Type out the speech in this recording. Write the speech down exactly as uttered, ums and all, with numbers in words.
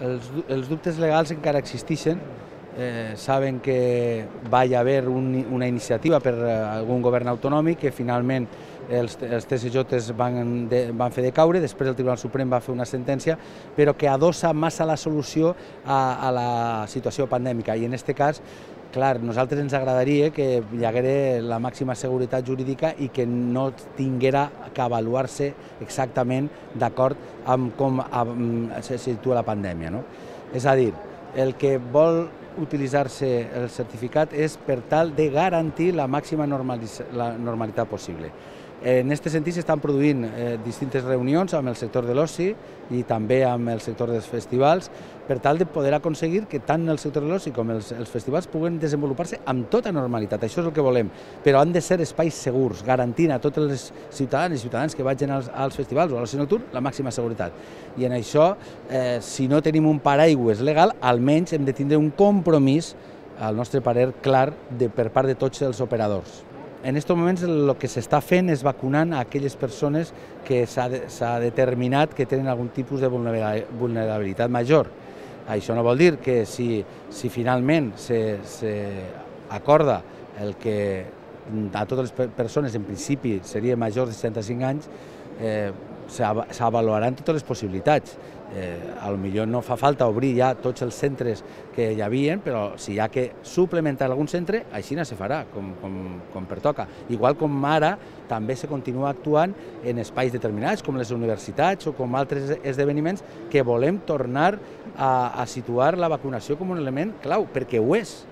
els, els dubtes legals encara existeixen. Eh, saben que va hi haver un, una iniciativa per algun govern autonòmic que finalment els, els T S Js van, de, van fer decaure, després el Tribunal Suprem va fer una sentència, però que adossa massa la solució a, a la situació pandèmica. I en aquest cas, clar, a nosaltres ens agradaria que hi hagués la màxima seguretat jurídica i que no tinguera que avaluar-se exactament d'acord amb com amb, se situa la pandèmia, no? És a dir, el que vol utilitzar-se el certificat és per tal de garantir la màxima la normalitat possible. En aquest sentit s'estan produint eh, distintes reunions amb el sector de l'oci i també amb el sector dels festivals per tal de poder aconseguir que tant el sector de l'oci com els, els festivals puguen desenvolupar-se amb tota normalitat. Això és el que volem, però han de ser espais segurs, garantint a tots els ciutadans i ciutadans que vagin als, als festivals o a l'oci nocturn la màxima seguretat. I en això, eh, si no tenim un paraigües legal, almenys hem de tindre un compromís, al nostre parer clar, de, per part de tots els operadors. En aquests moments el que s'està fent és vacunant a aquelles persones que s'ha de, determinat que tenen algun tipus de vulnerabilitat major. Això no vol dir que si, si finalment s'acorda el que a totes les persones en principi seria major de seixanta-cinc anys, eh, s'avaluaran totes les possibilitats. Eh, a lo millor no fa falta obrir ja tots els centres que hi havia, però si hi ha que suplementar algun centre, així no se farà, com, com, com pertoca. Igual com ara també se continua actuant en espais determinats, com les universitats o com altres esdeveniments, que volem tornar a, a situar la vacunació com un element clau, perquè ho és.